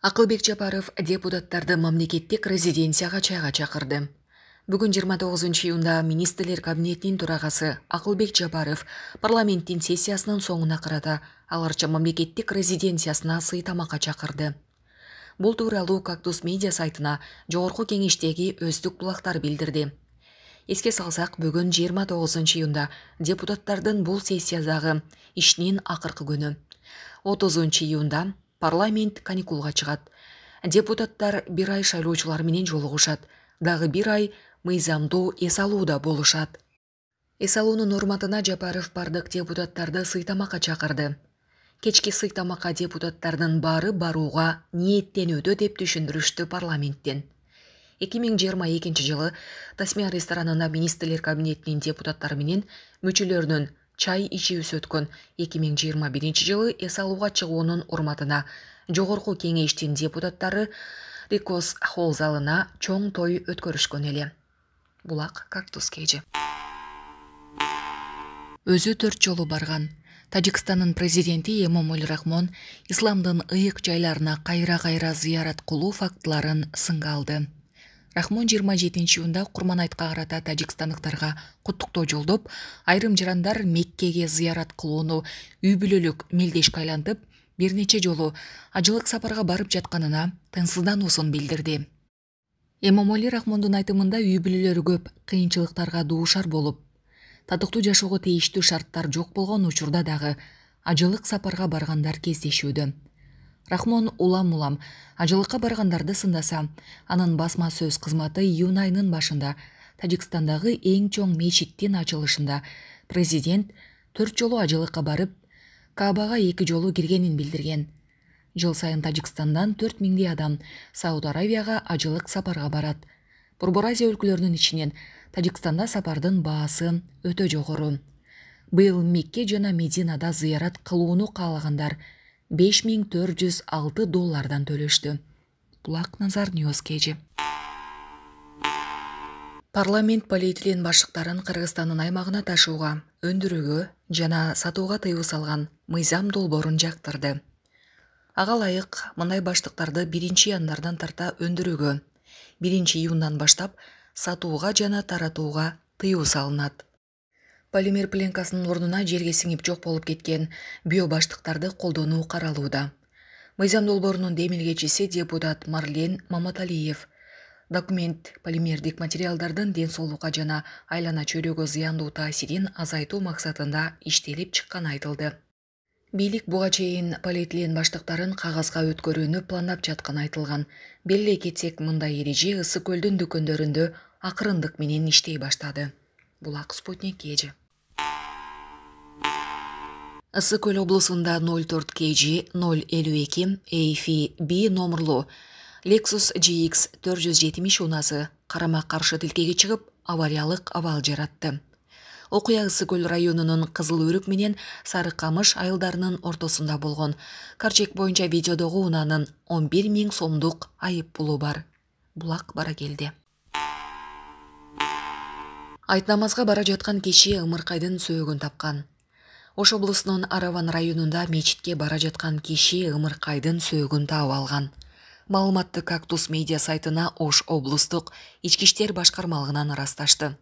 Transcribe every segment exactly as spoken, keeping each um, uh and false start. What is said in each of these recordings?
Акылбек Жапаров депутаттарды мамлекеттик резиденцияга чайга чакырды. Бүгүн жыйырма тогузунчу июнда министрлер кабинетинин төрагасы Акылбек Жапаров парламенттин сессиясынын соңуна карата аларча мамлекеттик резиденциясына сый тамакка чакырды. Бул тууралуу Кактус медиа сайтына жогорку кеңештеги өздүк булактар билдирди. Эске салсак, бүгүн жыйырма тогузунчу июнда депутаттардын бул сессиядагы ишинин акыркы күнү. отузунчу июнда парламент каникулга чыгат. Депутаттар бир ай шайлоочулар менен жолугушат, дагы бир ай мыйзамдуу эс алууда болушат. Эс алуунун урматына Жапаров бардык депутаттарды сый тамакка чакырды. Кечки сый тамакка депутаттардын баары барууга ниеттенүүдө деп түшүндүрүштү парламенттен. эки миң жыйырма экинчи жылы Тасмия ресторанында министрлер кабинетинин депутаттары менен мүчөлөрүнүн чай ичүүсү өткөн. эки миң жыйырма биринчи жылы эс алууга чыгуунун урматына жогорку кеңештин депутаттары Рикос холл залына чоң той өткөрүшкөн эле. Булак Кактус кежи. Өзү төрт жолу барган. Тажикстандын президенти Эмомали Рахмон исламдын ыйык жайларына кайра-кайра зыярат кылуу фактыларын сынга алды. Рахмон жыйырма жетинчи июнда Курманайтка карата тажикстандыктарга куттуктоо жолдоп, айрым жарандар Меккеге зыярат кылууну үй бүлөлүк мелдешке айлантып, бир нече жолу ажылык сапарга барып жатканына тынчсыздануусун билдирди. Эмомали Рахмондун айтымында үй бүлөлөрү көп кыйынчылыктарга дуушар болуп, татыктуу жашоого тийиштүү шарттар жок болгон учурда дагы ажылык сапарга баргандар кездешүүдө. Рахмон улам-улам ажылыкка баргандарды сындаса, анын басма сөз кызматы июнь айынын башында Тажикстандагы эң чоң мечиттин ачылышында президент төрт жолу ажылыкка барып, Каабага эки жолу киргенин билдирген. Жыл сайын Тажикстандан төрт миңдей адам Сауд Аравияга ажылык сапарга барат. Борбор Азия өлкөлөрүнүн ичинен Тажикстанда сапардын баасы өтө жогору. Быйыл Мекке жана Мединада зыярат кылууну каалагандар беш миң төрт жүз алты доллардан төлөштү. Булак Назар Ньюс кежи. Парламент полиэтилен башыктарын Кыргызстандын аймагына ташууга, өндүрүүгө жана сатууга тыюу салган мыйзам долбоорун жактырды. Ага ылайык мындай баштыктарды биринчи январдан тарта өндүрүүгө, биринчи июндан баштап сатууга жана таратууга тыюу салынат. Полимер пленкасынын ордуна жерге сиңип жок болуп кеткен биобаштыктарды колдонуу каралууда. Мыйзам долбоорунун демилгечиси депутат Марлен Маматалиев. Документ полимердик материалдардын ден соолукка жана айлана чөйрөгө зыяндуу таасирин азайтуу максатында иштелип чыкканы айтылды. Бийлик буга чейин полиэтилен баштыктарын кагазга өткөрүүнү пландап жатканы айтылган. Белгилей кетсек, мындай эреже Ысык көлдүн дүкөндөрүндө акырындык менен иштей баштады. Булак Спутник кежи. Ысык көл облусунда ноль төрт кей жи ноль элүү эки эй эф би номерлуу Lexus джи икс төрт жүз жетимиш унасы карама-каршы тилкеге чыгып, авариялык абал жаратты. Окуя Ысык көл районунун Кызыл Өрүк менен Сары Камыш айылдарынын ортосунда болгон. Карчек боюнча видеодогу унаанын он бир миң сомдук айып пулу бар. Булак бара келди. Айт намазга бара жаткан киши ымыркайдын сөөгүн тапкан. Ош облусунун Араван районунда мечитке бара жаткан киши ымыркайдын сөөгүн таап алган. Маалыматты Кактус медиа сайтына Ош облустук ички иштер башкармалыгынан ырасташты.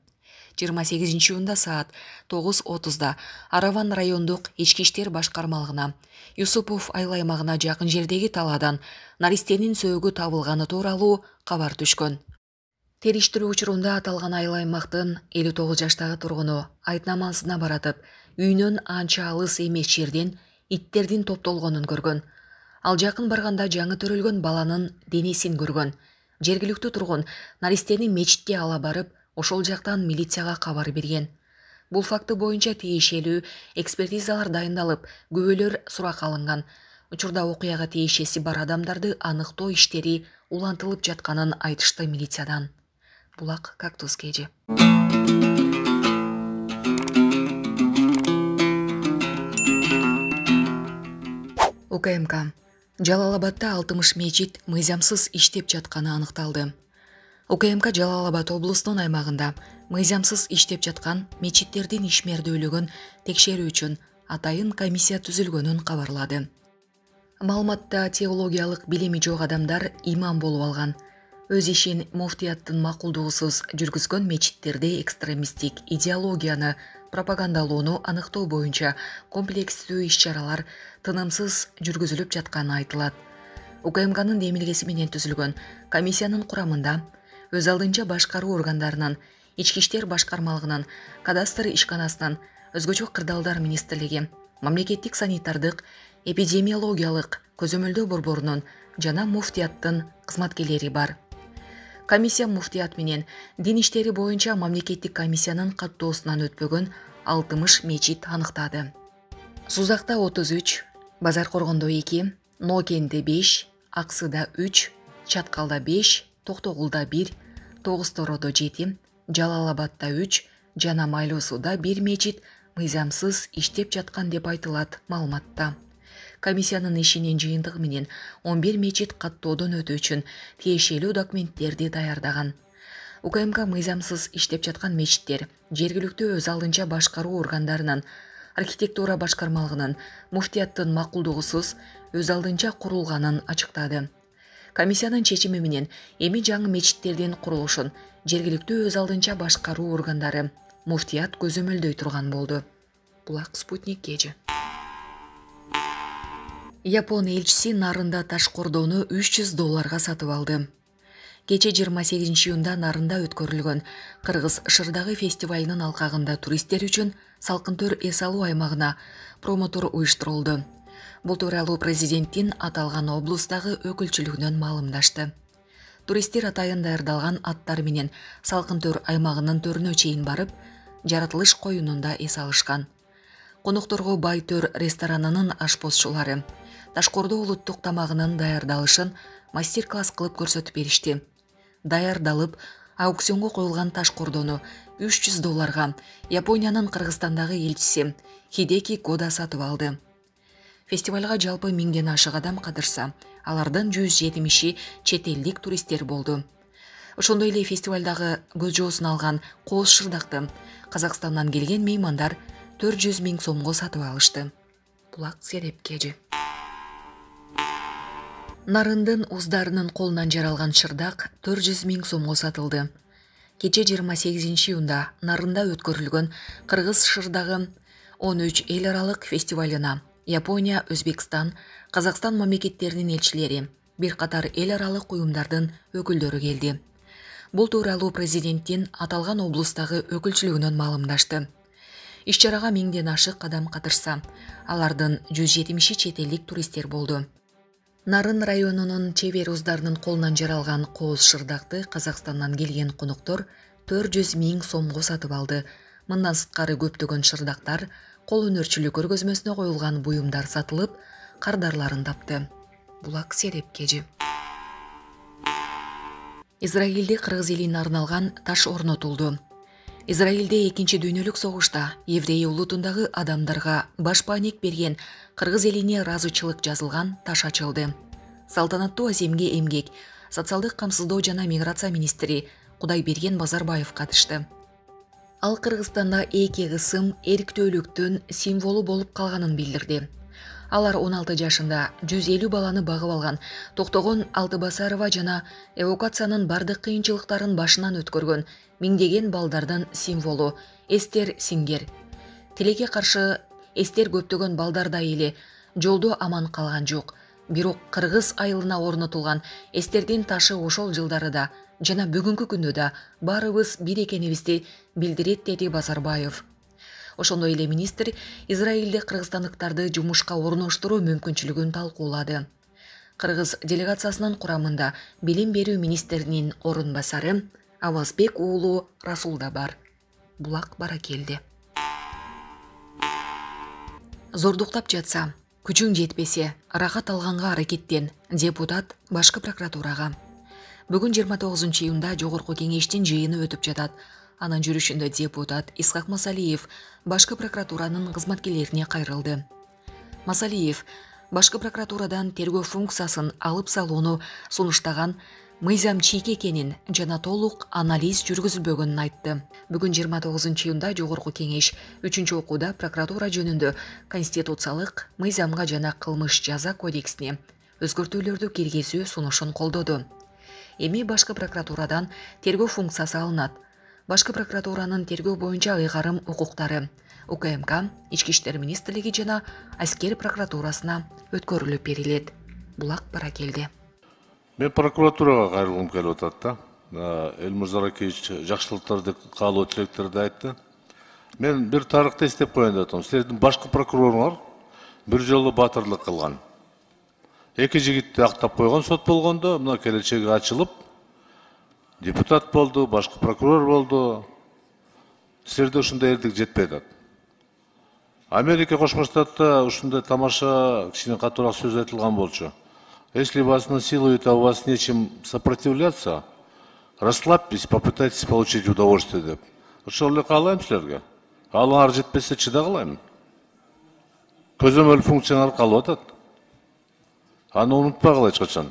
жыйырма сегизинчи июнда саат тогуз отузда Араван райондук ички иштер башкармалыгына Юсупов айыл аймагына жакын жердеги талаадан наристенин сөөгү табылганы тууралуу кабар түшкөн. Териштирүү учурунда аталган айыл аймактын элүү тогуз жаштагы тургуну айт намазына баратып, үйүнөн анча алыс эмес жерден иттердин топтолгонун көргөн. Ал жакын барганда жаңы төрөлгөн баланын денесин көргөн. Жергиликтүү тургун наристени мечитке ала барып, ошол жактан милицияга кабар берген. Бул факты боюнча тиешелүү экспертизалар дайындалып, күбөлөр суракка алынган. Учурда окуяга тиешеси бар адамдарды аныктоо иштери улантылып жатканын айтышты милициядан. Булак Кактус кежи. УКМК. Жалал-Абадда алтымыш мечит мыйзамсыз иштеп жатканы аныкталды. УКМК Жалал-Абад облусунун аймагында мыйзамсыз иштеп жаткан мечиттердин ишмердүүлүгүн текшерүү үчүн атайын комиссия түзүлгөнүн кабарлады. Маалыматта теологиялык билими жок адамдар имам болуп алган. Өз ишин муфтияттын макулдугусуз жүргүзгөн мечиттерде экстремисттик идеологияны пропагандалоону аныктоо боюнча комплекстүү иш-чаралар тынымсыз жүргүзүлүп жатканы айтылат. УКМКнын демилгеси менен түзүлгөн комиссиянын курамында өз алдынча башкаруу органдарынын, ички иштер башкармалыгынын, кадастр ишканасынын, өзгөчө кырдаалдар министрлиги, мамлекеттик санитардык, эпидемиологиялык көзөмөлдөө борборунун жана муфтияттын кызматкерлери бар. Комиссия муфтият менен дин иштери боюнча мамлекеттик комиссиянын каттоосунан өтпөгөн алтымыш мечит аныктады. Сузакта отуз үч, Базар Коргондо эки, Нокенде беш, Аксыда үч, Чаткалда беш, Токтогулда бир, Тогуз Тородо жети, Жалал-Абадда үч жана Майлуу Сууда бир мечит мыйзамсыз иштеп жаткан деп айтылат маалыматта. Комиссиянын ишинин жыйынтыгы менен он бир мечит каттоодон өтүү үчүн тиешелүү документтерди даярдаган. УКМК мыйзамсыз иштеп жаткан мечиттер жергиликтүү өз алдынча башкаруу органдарынын, архитектура башкармалыгынын, муфтияттын макулдугусуз өз алдынча курулганын ачыктады. Комиссиянын чечими менен эми жаңы мечиттердин курулушун жергиликтүү өз алдынча башкаруу органдары, муфтият көзөмөлдөй турган болду. Булак Спутник кежи. Япон элчиси нарында таш кордоону үч жүз долларга сатып алды. Кече жыйырма сегизинчи июнда нарында өткөрүлгөн Кыргыз Шырдагы фестивалынын алкагында туристтер үчүн салкын-төр эс алуу аймагына промотор уюштурулду. Бул тууралуу президенттин аталган облустагы өкүлчүлүгүнөн маалымдашты. Туристтер атайын даярдалган аттар менен салкын-төр аймагынын төрүнө чейин барып, жаратылыш коюнунда эс алышкан. Конокторго Бай төр ресторанынын ашпозчулары ташкордоо улуттук тамагынын даярдалышын мастер-класс кылып көрсөтүп беришти. Даярдалып, аукционго коюлган ташкордону үч жүз долларга Япониянын Кыргызстандагы элчиси Хидеки Кода сатып алды. Фестивалга жалпы миңден ашык адам катышса, алардын жүз жетимиши чет элдик туристтер болду. Ошондой эле фестивалдагы көз жоосун алган кооз шырдакты Казакстандан келген меймандар төрт жүз миң сомго сатып алышты. Булак Сереп кежи. Нарындын уздарынын колунан жаралган шырдак төрт жүз миң сомго сатылды. Кече жыйырма сегизинчи июнда нарында өткөрүлгөн Кыргыз Шырдагы он үч эл аралык фестивалына Япония, Өзбекстан, Казакстан мамлекеттеринин элчилери, бир катар эл аралык уюмдардын өкүлдөрү келди. Бул тууралуу президенттин аталган облустагы өкүлчүлүгүнөн маалымдашты. Иш-чарага миңден ашык адам катышса, алардын жүз жетимиши чет элдик туристтер болду. Нарын районунун чебер уздарынын колунан жаралган кооз шырдакты Казакстандан келген коноктор төрт жүз миң сомго сатып алды. Мындан сырткары көптөгөн шырдактар, кол өнөрчүлүк көргөзмөсүнө коюлган буюмдар сатылып, кардарларын тапты. Булак Сереп кежи. Израилде кыргыз элине арналган таш орнотулду. Израилде экинчи дүйнөлүк согушта еврей улутундагы адамдарга башпаанек берген кыргыз элине ыраазычылык жазылган таш ачылды. Салтанаттуу аземге эмгек, социалдык камсыздоо жана миграция министри Кудайберген Базарбаев катышты. Ал Кыргызстанда эки кысым эрктүүлүктүн символу болуп калганын билдирди. Алар он алты жашында жүз элүү баланы багып алган Токтогон Алтыбасарова жана эвакуациянын бардык кыйынчылыктарын башынан өткөргөн миңдеген балдардын символу Эстер Сингер. Тилекке каршы Эстер көптөгөн балдардай эле жолдо аман калган жок. Бирок Кыргыз айылына орнотулган Эстердин ташы ошол жылдарыда жана бүгүнкү күндө да баарыбыз бир экенибизди билдирет, деди Базарбаев. Ошондой эле министр Израилде кыргызстандыктарды жумушка орноштуруу мүмкүнчүлүгүн талкуулады. Кыргыз делегациясынын курамында билим берүү министринин орун басары Авазбек уулу Расул да бар. Булак Баракелди. Зордуктап жатса, күчүң жетпесе, ырахат алганга аракеттен, депутат башкы прокуратурага. Бүгүн жыйырма тогузунчу июнда жогорку кеңештин жыйыны өтүп жатат. Анын жүрүшүндө депутат Исхак Масалиев башкы прокуратуранын кызматкерлерине кайрылды. Масалиев башкы прокуратурадан тергөө функциясын алып салууну сунуштаган, мыйзам чийки экенин жана толук анализ жүргүзүлбөгөнүн айтты. Бүгүн жыйырма тогузунчу июнда Жогорку Кеңеш үчүнчү окууда прокуратура жөнүндө конституциялык, мыйзамга жана кылмыш жаза кодексине өзгөртүүлөрдү киргизүү сунушун колдоду. Эми башкы прокуратурадан тергөө функциясы алынат. Башкы прокуратуранын тергөө боюнча ыйгарым укуктары У К М К, Ички иштер министрлиги жана аскер прокуратурасына өткөрүлүп берилет. Булак Баракелди. Мен прокуратурага кайрылгым келип атат да. Элмур Заракевич жакшылыктарды каалоо тилектерди айтты. Мен бир тарыхты эстеп коеюн деп атам. Силердин башкы прокуроруңар бир жолу батырлык кылган. Эки жигитти актап койгон сот болгондо, мына келечеги ачылып, депутат болду, башкы прокурор болду. Силерде ушундай эрдик жетпей атат. Америка Кошмо Штатта ушундай тамаша кичине катуураак сөз айтылган болчу. Если вас насилуют, а у вас нечем сопротивляться, расслабьтесь, попытайтесь получить удовольствие деп. Ошол эле каалайм силерге. Алыңар жетпесе чыдагылайм. Көзөмөл функцияңар калып атат. Аны унутпагыла эч качан.